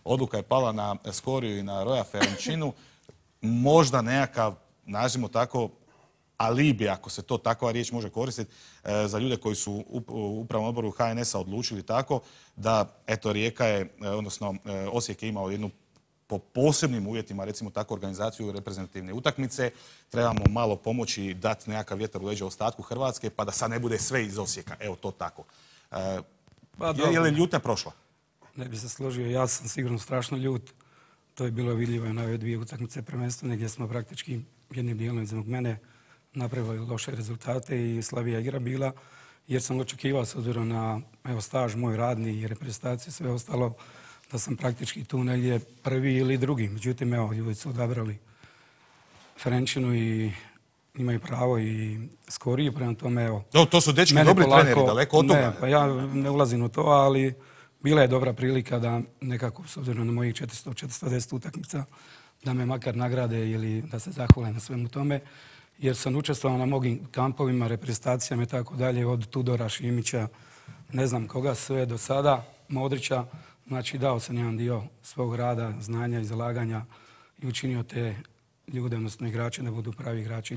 odluka je pala na Skoriju i na Roja Ferenčinu. Možda nekakav, nađemo tako, alibi, ako se to takva riječ može koristiti, za ljude koji su u upravnom odboru HNS-a odlučili tako da, eto, Rijeka je, odnosno Osijek je imao jednu po posebnim uvjetima, recimo tako, organizaciju reprezentativne utakmice. Trebamo malo pomoći i dati nekakav vjetar u leđa ostatku Hrvatske, pa da sad ne bude sve iz Osijeka. Evo to tako. Je li ljutnja prošla? Ne bi se složio, ja sam sigurno strašno ljut. To je bilo vidljivo i na ove dvije utakmice prvenstvene gdje smo praktički jednim dijelom između mene napravili loše rezultate i slabija igra bila, jer sam očekivao s obzirom na staž moj radni i reprezentaciju sve ostalo da sam praktički tu negdje prvi ili drugi. Međutim, ljudi su odabrali Ferenčinu i imaju pravo i Skoriju, prema tome, to su dečki dobri treneri, daleko od toga. Ne, pa ja ne ulazim u to, ali bila je dobra prilika da nekako, s obzirom na mojih 410 utakmica, da me makar nagrade ili da se zahvale na svemu tome, jer sam učestvovao na mnogim kampovima, reprezentacijama i tako dalje, od Tudora, Šimića, ne znam koga sve do sada, Modrića. Znači, dao sam jedan dio svog rada, znanja i zalaganja i učinio te ljude, odnosno igrače, da budu pravi igrači.